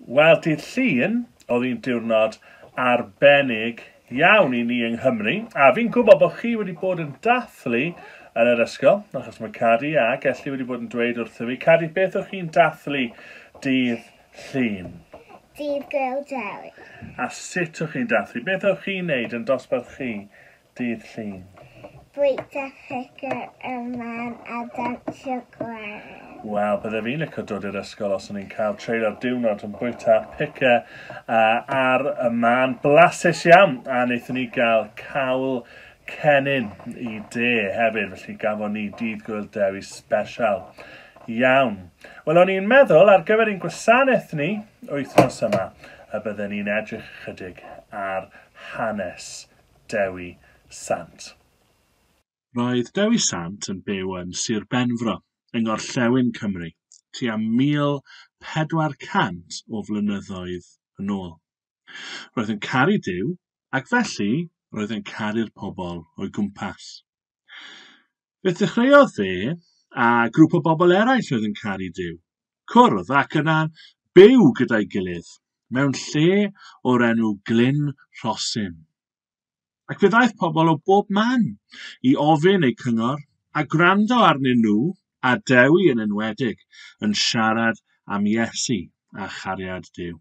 Wel, dydd Llun oedd hi'n diwrnod arbennig iawn i ni yng Nghymru, a fi'n gwybod bod chi wedi bod yn dathlu yn yr ysgol, achos mae Cadi ac Elli wedi bod yn dweud wrtho fi. Cadi, beth o'ch chi'n dathlu dydd Llun? Dydd Gŵyl Dewi. A sut o'ch chi'n dathlu? Beth o'ch chi'n neud yn dosbarth chi dydd Llun? Bwyta picker y man a dawnsio gwerin. Wel, bydde fi'n licio dod i'r ysgol os o'n i'n cael treulio'r diwrnod yn bwyta picker ar y man. Blasus iawn! A wnaethon ni gael cawl cennin i de hefyd, felly gafon ni Dydd Gŵyl Dewi special. Iawn. Wel, o'n i'n meddwl ar gyfer ein gwasanaeth ni wythnos yma y bydden ni'n edrych ychydig ar hanes Dewi Sant. Roedd Dewi Sant yn byw yn Sir Benfro, yng ngorllewin Cymru, tua 1400 o flynyddoedd yn ôl. Roedd yn caru Duw, ac felly roedd yn caru'r pobl o'i gwmpas. Fe ddechreuodd fe a grŵp o bobl eraill oedd yn caru Duw, cwrdd ac yna byw gyda'i gilydd mewn lle o'r enw Glyn Rhosyn. Ac fe ddaeth pobl o bob man i ofyn eu cyngor a gwrando arnyn nhw, a Dewi yn enwedig, yn siarad am Iesu a chariad Duw.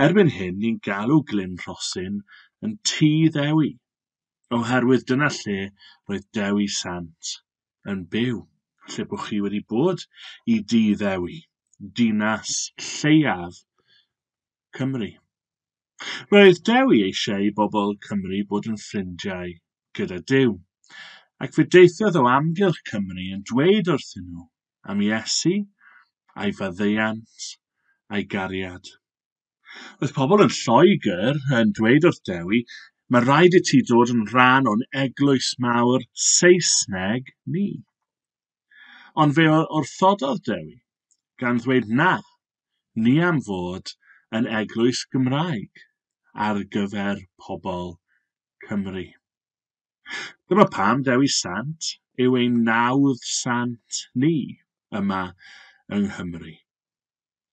Erbyn hyn, ni'n galw Glyn Rhosyn yn Tŷ Ddewi, oherwydd dyna lle roedd Dewi Sant yn byw. Lle bod chi wedi bod i Dŷ Ddewi, dinas lleiaf Cymru. Roedd Dewi eisiau i bobl Cymru bod yn ffrindiau gyda Duw, ac fe deithiodd o amgylch Cymru yn dweud wrthyn nhw am Iesu a'i faddeuant a'i gariad. Roedd pobl yn Lloegr yn dweud wrth Dewi, mae rhaid i ti dod yn rhan o'n eglwys mawr Saesneg ni. Ond fe wrthododd Dewi, gan ddweud na, ni am fod yn eglwys Gymraeg ar gyfer pobl Cymru. Dyma pam Dewi Sant yw ein nawdd sant ni yma yng Nghymru.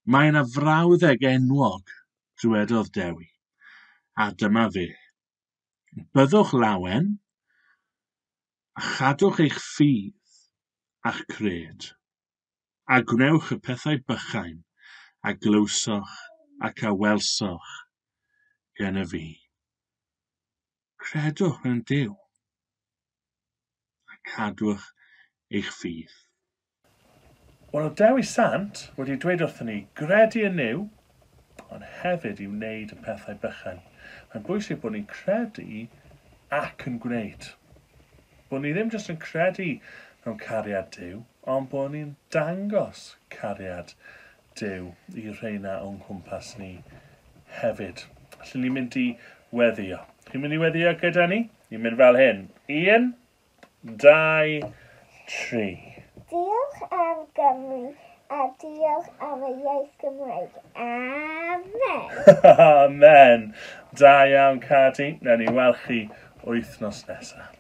Mae yna frawddeg enwog, dywedodd Dewi, a dyma fe. Byddwch lawen a chadwch eich ffydd a'ch cred, a gwnewch y pethau bychain a glywsoch ac a welsoch gennyf fi. Credwch mewn Duw a cadwch eich ffydd. Wel, oedd Dewi Sant wedi dweud wrthyn ni gredu yn Nuw, ond hefyd i wneud y pethau bychain. Mae'n bwysig bod ni'n credu ac yn gwneud. Bod ni ddim jyst yn credu mewn cariad Duw, ond bod ni'n dangos cariad Duw i rheina o'n cwmpas ni hefyd. Felly ni'n mynd i weddio. Chi'n mynd i weddio gyda ni? Ni'n mynd fel hyn. 1, 2, 3. Diolch am Gymru a diolch am y iaith Gymraeg. Amen. Amen. Da iawn, Cadi. Newn ni weld chi wythnos nesaf.